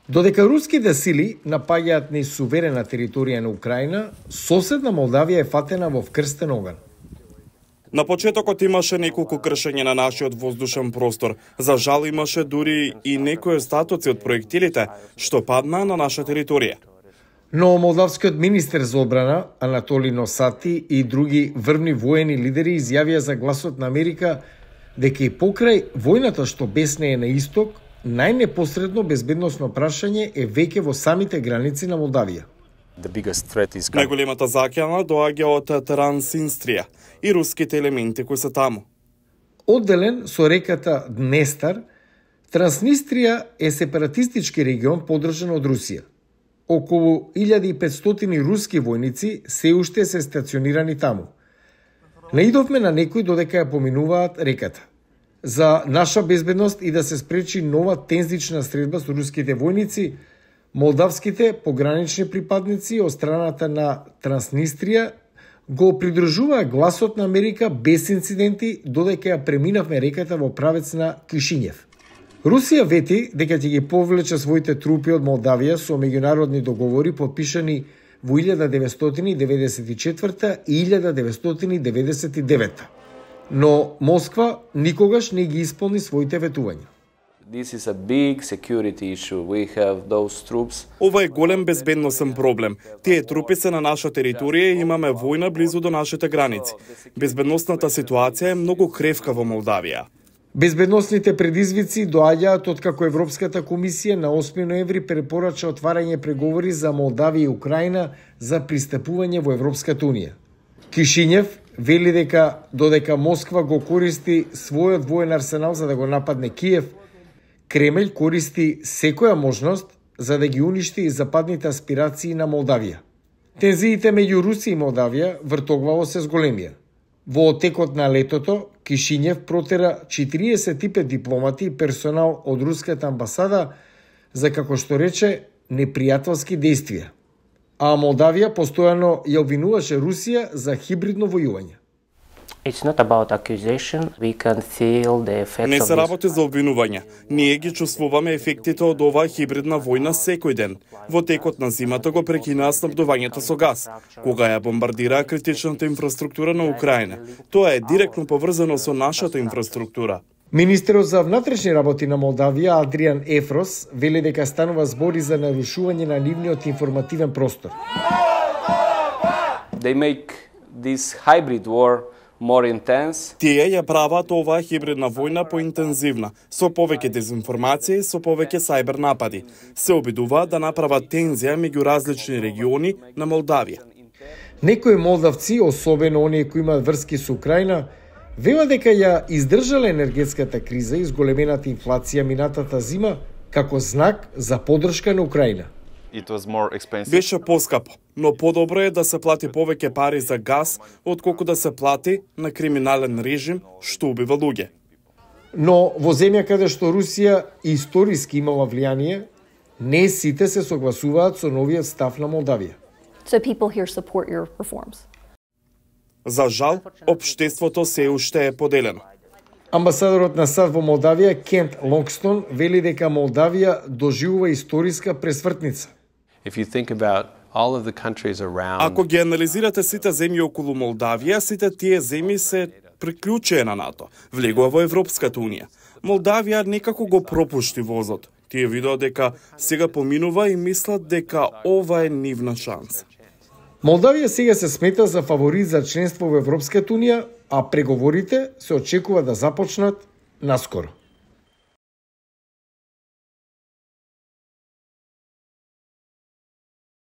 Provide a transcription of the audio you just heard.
Додека руските сили напаѓаат низ суверена територија на Украина, соседна Молдавија е фатена во вкрстен оган. На почетокот имаше неколку кршења на нашиот воздушен простор. За жал имаше дури и некои остатоци од проектилите што паднаа на наша територија. Но молдавскиот министер за одбрана Анатолий Носати и други врвни воени лидери изјавија за Гласот на Америка дека и покрај војната што беснее на исток, најнепосредно безбедносно прашање е веќе во самите граници на Молдавија. Најголемата закјана доаѓа од Транснистрија и руските елементи кои се таму. Одделен со реката Днестар, Транснистрија е сепаратистички регион поддржан од Русија. Околу 1500 руски војници се уште се стационирани таму. Наидовме на некои додека ја поминуваат реката. За наша безбедност и да се спречи нова тензична средба со руските војници, молдавските погранични припадници од страната на Транснистрија го придружуваа Гласот на Америка без инциденти додека ја преминавме реката во правец на Кишињев. Русија вети дека ќе ги повлече своите трупи од Молдавија со меѓународни договори подпишани во 1994 и 1999. Но Москва никогаш не ги исполни своите ветувања. Ова е голем безбедносен проблем. Тие трупи се на наша територија и имаме војна близу до нашите граници. Безбедносната ситуација е многу кревка во Молдавија. Безбедносните предизвици доаѓаат откако Европската комисија на 8 ноември препорача отварање преговори за Молдавија и Украина за пристапување во Европската унија. Кишињев вели дека додека Москва го користи својот воен арсенал за да го нападне Киев, Кремљ користи секоја можност за да ги уништи и западните аспирации на Молдавија. Тензиите меѓу Русија и Молдавија вртогваво се зголемија. Во текот на летото, Кишињев протера 45 дипломати и персонал од руската амбасада за, како што рече, непријателски дејствија. А Молдавија постојано ја обвинуваше Русија за хибридно војување. Не се работи за обвинување. Ние ги чувствуваме ефектите од оваа хибридна војна секој ден. Во текот на зимата го прекинаа снабдувањето со газ, кога ја бомбардираа критичната инфраструктура на Украина. Тоа е директно поврзано со нашата инфраструктура. Министерот за внатрешни работи на Молдавија Адриан Ефрос вели дека станува збори за нарушување на нивниот информативен простор. Тие ја прават оваа хибридна војна поинтензивна, со повеќе дезинформација и со повеќе сајбер напади. Се обидуваат да направат тензија меѓу различни региони на Молдавија. Некои молдавци, особено оние кои имаат врски со Украина, вела дека ја издржала енергетската криза и зголемената инфлација минатата зима како знак за поддршка на Украина. Беше поскапо, но подобро е да се плати повеќе пари за газ, отколку да се плати на криминален режим што убива луѓе. Но во земја каде што Русија историски имала влијание, не сите се согласуваат со новиот став на Молдавија. За жал, општеството се уште е поделено. Амбасадорот на САД во Молдавија Кент Лонгстон вели дека Молдавија доживува историска пресвртница. Ако ги анализирате сите земји околу Молдавија, сите тие земји се приклучија на НАТО, влегува во Европската унија. Молдавија некако го пропушти возот. Тие видоа дека сега поминува и мислат дека ова е нивна шанса. Молдавија сега се смета за фаворит за членство во Европската унија, а преговорите се очекува да започнат наскоро.